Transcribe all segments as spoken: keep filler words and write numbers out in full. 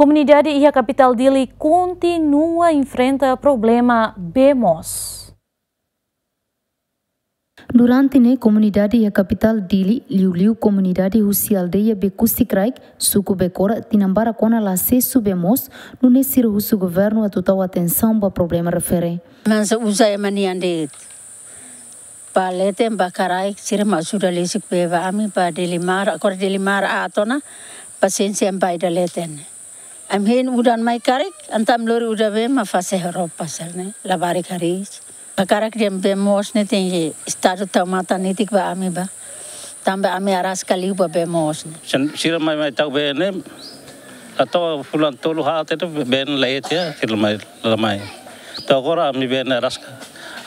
Komunidade iha kapitál Dili kontinua enfrenta problema bee moos. Durante ne'e, komunidade iha kapitál Dili, liuliu komunidade husi aldeia Bekusi Kraik, suku Bekora, tinan barak ona la asesu bee moos, nune'e sira husu governu atu tau atensaun ba problema refere. Mansa uza ema nian de'it. Ba leten ba karai sira mak ajuda lesik bee ba ami ba Dili maran, agora Dili maran aat ona, pasiénsia ba ida leten. Ami hein udan mai karik, entaun ami lori udan bee mak fase roupa sira-ne'e, labarik hariis. Hakarak dehan bee moos ne'e tenke Estadu tau matan netik ba ami ba. Tanba ami araska liu ba bee moos ne'e. Sen-, sira mai, mai tau bee ne'e, la to'o fulan tolu haat ne'e bee ne'e la iha, sira mai, la mai. To'o agora ami bee ne'e araska.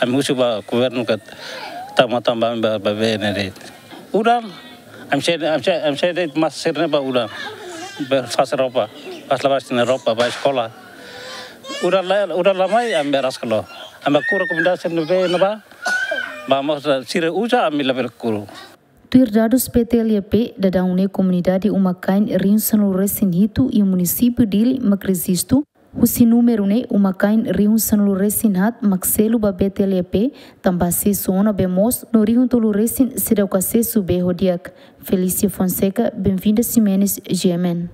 Ami husu ba governu katak tau matan ba ami ba, ba bee ne'e de'it. Udan, ami sei, ami sei, ami sei de'it masa sira-ne'e ba udan. Bee fase roupa, fase labarik sira-nia roupa, ba eskola. Udan la, udan la mai, ami bee araska loos. Ami kuru komunidade sira-ne'e bee ne'ebá, ba moos sira uza, ami labele kuru. Tuir dadus P T L P, daudaun ne'e komunidade uma-kain rihun sanulu-resin-hitu iha munisípiu Dili mak rejistu, husi númeru ne'e uma-kain rihun sanulu-resin-haat mak selu ba P T L P, tanba asesu ona bee moos, no rihun tolu-resin seidauk asesu bee ho di'ak. Felícia Fonseca, Benvinda Ximenes, G M N.